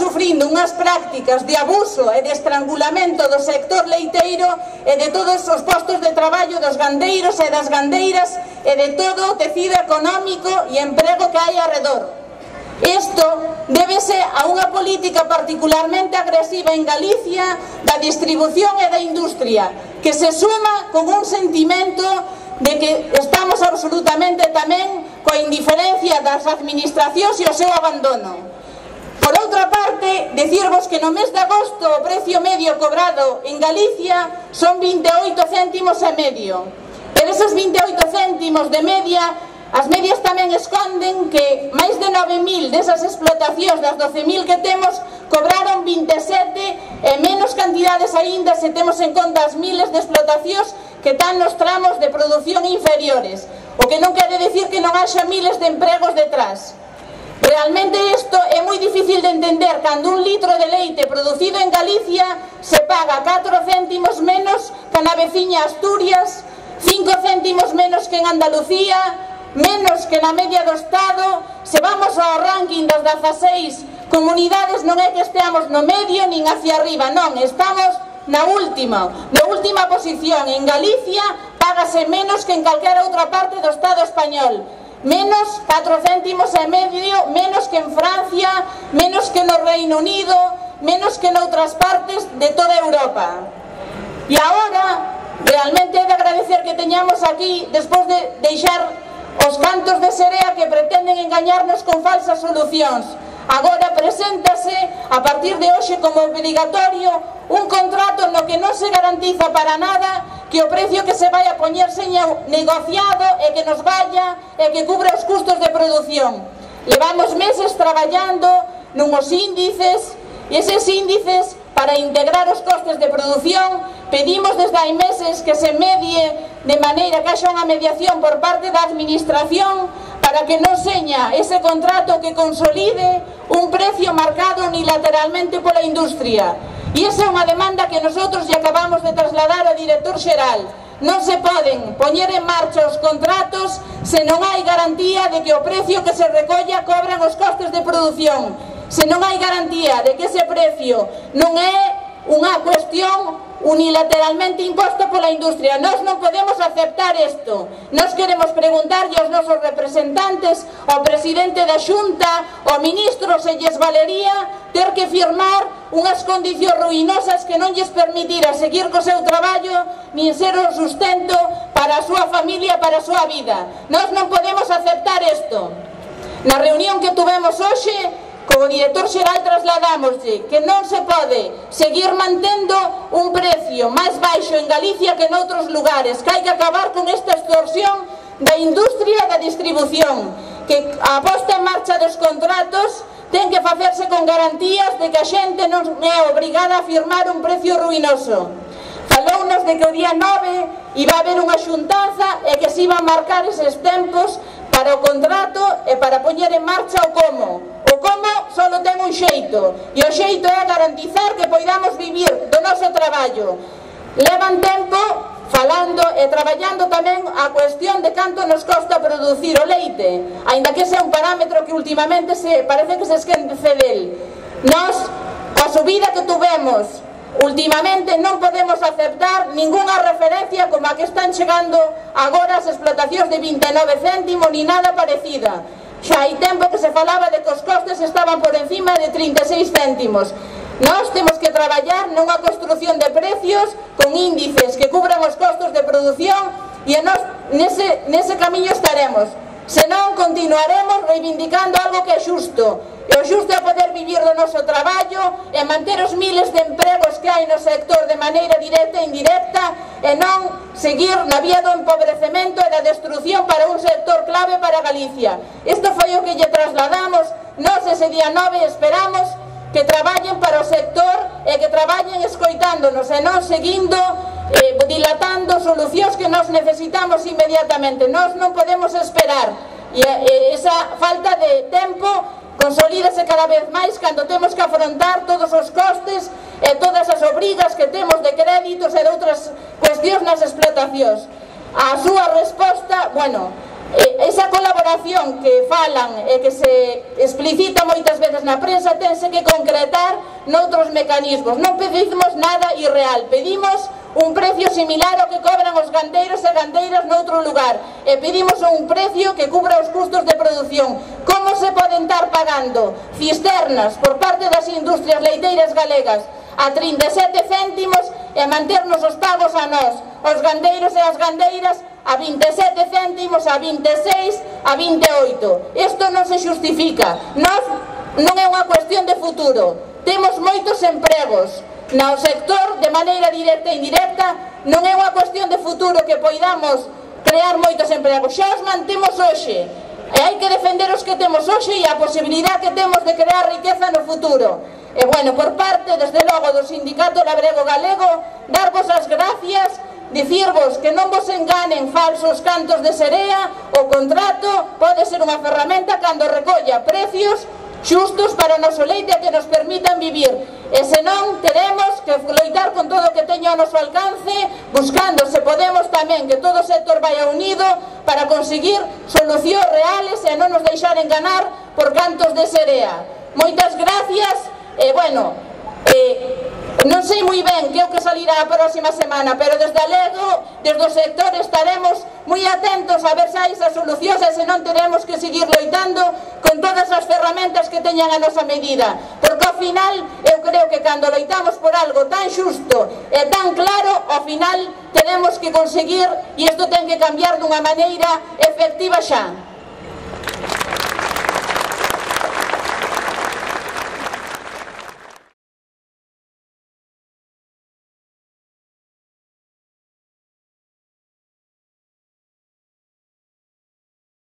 sufrindo unhas prácticas de abuso e de estrangulamento do sector leiteiro e de todos os postos de traballo dos gandeiros e das gandeiras e de todo o tecido económico e emprego que hai arredor. Isto débese a unha política particularmente agresiva en Galicia da distribución e da industria, que se suma con un sentimento de que estamos absolutamente tamén coa indiferencia das administracións e o seu abandono. Por outra parte, decirvos que no mes de agosto o precio medio cobrado en Galicia son 28 céntimos e medio. Pero esos 28 céntimos de media, as medias tamén esconden que máis de 9.000 desas explotacións das 12.000 que temos cobraron 27 e menos cantidades aínda se temos en conta as miles de explotacións que están nos tramos de produción inferiores, o que non quere decir que non haxa miles de empregos detrás. Realmente isto é moi difícil de entender cando un litro de leite producido en Galicia se paga 4 céntimos menos que na veciña Asturias, 5 céntimos menos que en Andalucía, menos que na media do Estado. Se vamos ao ranking das 16 comunidades non é que esteamos no medio nin hacia arriba, non, estamos na última posición. En Galicia págase menos que en calquera outra parte do Estado español, menos 4 céntimos e medio, menos que en Francia, menos que no Reino Unido, menos que noutras partes de toda Europa. E agora realmente é de agradecer que teñamos aquí, despois de deixar os cantos de serea que pretenden engañarnos con falsas solucións, agora preséntase a partir de hoxe como obligatorio un contrato no que non se garantiza para nada que o precio que se vai a poñer seña negociado e que nos vaya e que cubra os custos de produción. Levamos meses traballando nuns índices e eses índices para integrar os costes de produción pedimos desde hai meses que se medie de maneira que haxa unha mediación por parte da administración para que non seña ese contrato que consolide un precio marcado unilateralmente pola industria. E esa é unha demanda que nosotros lle acabamos de trasladar ao director xeral. Non se poden poñer en marcha os contratos se non hai garantía de que o precio que se recolla cobran os costes de produción, se non hai garantía de que ese precio non é unha cuestión unilateralmente imposto pola industria. Nós non podemos aceptar isto. Nós queremos preguntarlle aos nosos representantes, ao presidente da Xunta, ao ministro, se lles valería ter que firmar unhas condicións ruinosas que non lles permitira seguir co seu traballo nin ser o sustento para a súa familia, para a súa vida. Nós non podemos aceptar isto. Na reunión que tuvemos hoxe, como director xeral trasladámoslle que non se pode seguir mantendo un precio máis baixo en Galicia que noutros lugares, que hai que acabar con esta extorsión da industria e da distribución, que a posta en marcha dos contratos ten que facerse con garantías de que a xente non é obrigada a firmar un precio ruinoso. Falounos de que o día 9 iba a haber unha xuntanza e que se iban a marcar eses tempos para o contrato e para poñer en marcha o como. O como só ten un xeito, e o xeito é garantizar que poidamos vivir do noso traballo. Levan tempo falando e traballando tamén a cuestión de canto nos costa producir o leite, aínda que ese é un parámetro que últimamente parece que se esquece del. Nós, coa subida que tuvemos últimamente, non podemos aceptar ningunha referencia como a que están chegando agora as explotacións de 29 céntimos ni nada parecida. Xa hai tempo que se falaba de que os costes estaban por encima de 36 céntimos. Nós temos que traballar nunha construción de precios con índices que cubran os costos de produción e nós nese camiño estaremos. Senón continuaremos reivindicando algo que é xusto. E o xusto é poder vivir do noso traballo e manter os miles de empregos que hai no sector de maneira directa e indirecta e non seguir na vía do empobrecemento e da destrucción para un sector clave para Galicia. Isto foi o que lle trasladamos. Nós ese día 9 esperamos que traballen para o sector e que traballen escoitándonos e non seguindo dilatando solucións que nós necesitamos inmediatamente. Nós non podemos esperar e esa falta de tempo consolídase cada vez máis cando temos que afrontar todos os costes e todas as obrigas que temos de créditos e de outras cuestións nas explotacións. A súa resposta, esa colaboración que falan e que se explicita moitas veces veces na prensa, tense que concretar noutros mecanismos. Non pedimos nada irreal, pedimos un precio similar ao que cobran os gandeiros e gandeiras noutro lugar, e pedimos un precio que cubra os custos de produción. Como se poden estar pagando cisternas por parte das industrias leiteiras galegas a 37 céntimos e manternos os pagos a nós, os gandeiros e as gandeiras, a 27 céntimos, a 26, a 28? Isto non se xustifica. Non é unha cuestión de futuro. Temos moitos empregos no sector de maneira directa e indirecta. Non é unha cuestión de futuro que poidamos crear moitos empregos. Xa os mantemos hoxe e hai que defender os que temos hoxe e a posibilidade que temos de crear riqueza no futuro. E bueno, por parte, desde logo, do Sindicato Labrego Galego, darvos as gracias, dicirvos que non vos enganen falsos cantos de serea. O contrato pode ser unha ferramenta cando recolla precios xustos para o noso leite que nos permitan vivir, e senón teremos que loitar con todo o que teño ao noso alcance, buscando, se podemos, tamén que todo o sector vaya unido para conseguir solucións reales e non nos deixar enganar por cantos de serea. Moitas gracias. Bueno, non sei moi ben que é o que salirá a próxima semana, pero desde Alego, desde o sector, estaremos moi atentos a ver se hai esas solucións, e se non teremos que seguir loitando con todas as ferramentas que teñan a nosa medida, porque ao final eu creo que cando loitamos por algo tan xusto e tan claro, ao final tenemos que conseguir, e isto ten que cambiar dunha maneira efectiva xa.